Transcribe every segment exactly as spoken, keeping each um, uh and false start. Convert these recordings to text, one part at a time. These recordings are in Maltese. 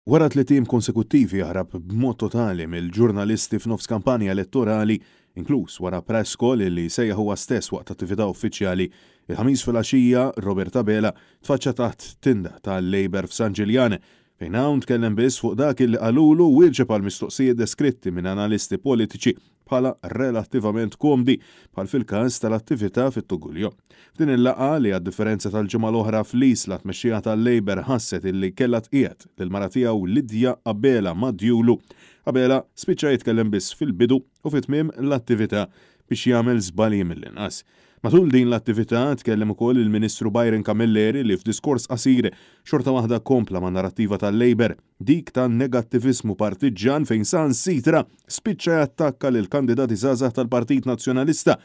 Wara tliet ijiem konsekuttivi jaħrab b'mod totali mill-ġurnalisti f'nofs kampanja elettorali, inkluż wara press call li sejjaħ huwa stess waqt attività uffiċjali, il-Ħamis filgħaxija Robert Abela tfaċċa taħt tinda tal-Labour f'San Ġiljan, fejn hawn tkellem biss fuq dak li qalulu, wieġeb għal mistoqsijiet deskritti minn analisti politiċi bħala relattivament komdi, bħal fil-każ tal-attività fit-Tuguljo. F'din il-laqgħa li, għad-differenza tal-ġimgħa l-oħra fl-Isla, tmexxija tal-Labour ħasset illi kellha tqiegħed lil-mara tiegħu Lidja Abela madjulu, Abela spiċċa jitkellem biss fil-bidu u fit-tmiem l-attività biex jagħmel żbalji mill-inqas. Matul din l-attività tkellem ukoll il-Ministru Byron Camilleri, li f'diskors qasir xorta waħda kompla ma' narrattiva tal-Labour, dik ta' negattivismu partiġġan, fejn saħansitra spiċċa jattakka lil kandidati żgħażagħ tal-Partit Nazzjonalista,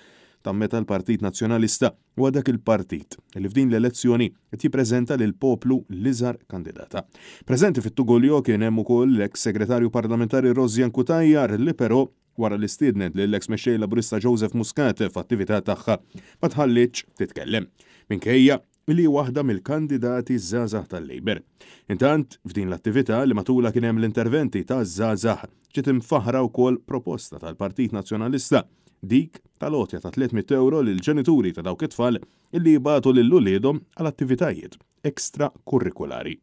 ta' meta l-Partit Nazzjonalista huwa dak il-partit li f'din l-elezzjoni qed jippreżenta lil poplu l-iżgħar kandidata. Preżenti fit-Tugoljo kien hemm ukoll l-eks segretarju parlamentari Rosianne Cutajar, li però, wara li stiednet lill-eks mexxej Laburista Joseph Muscat f'attività tagħha, ma tħallietx titkellem, minkejja li waħda mill-kandidati żgħażagħ tal-Labour. Intant, f'din l-attività li matula kien hemm l-interventi ta' żgħażagħ, ġiet imfaħra wkoll proposta tal-Partit Nazzjonalista, dik tal-għotja ta' tliet mitt euro lil ġenituri ta' dawk it-tfal illi jibagħtu lil uliedhom għal attivitajiet ekstrakurrikulari.